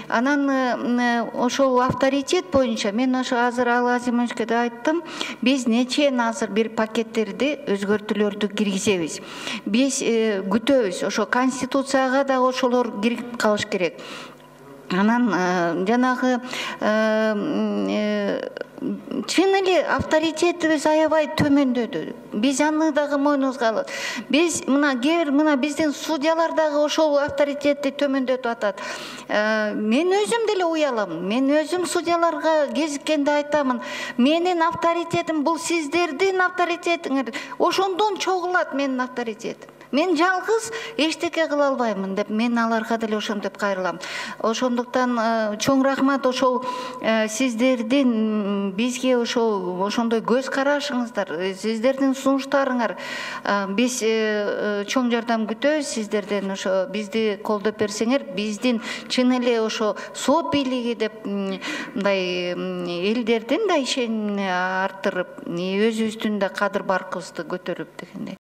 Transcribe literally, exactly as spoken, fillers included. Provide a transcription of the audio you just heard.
Анан ошол авторитет боюнча мен ошо азыр Ал Азимовичке да айттым, биз нечен азыр бир пакеттерди өзгөртүүлөрдү киргизебиз. Биз күтөбүз, ошо конституцияга да ошолор кирип калыш керек. Анан жанагы чын эле авторитетибиз аябай төмөндөдү. Биз аны дагы мойнубузга алабыз. Биз мына кээ бир мына биздин судьялар дагы ошол авторитетти төмөндөтүп атат. Мен өзүм деле уялам. Мен өзүм судьяларга кезиккенде айтамын. Менин авторитетим бул сиздердин авторитетиңер. Ошондон чогулат менин авторитетим. Мен жалгыз эчтеке кыла албаймын деп мен аларга деле ошентип кайрылам. Ошондуктан чоң рахмат ошол сиздердин бизге ошол ошондой көз карашыңыздар, сиздердин сунуштарыңар. Биз чоң жардам күтөбүз сиздерден, ошо бизди колдоп берсеңер, биздин чын эле ошо сот бийлиги деп мындай элдердин да ишенимин арттырып, өзүбүздүн да кадыр баркыбызды көтөрүп дегендей.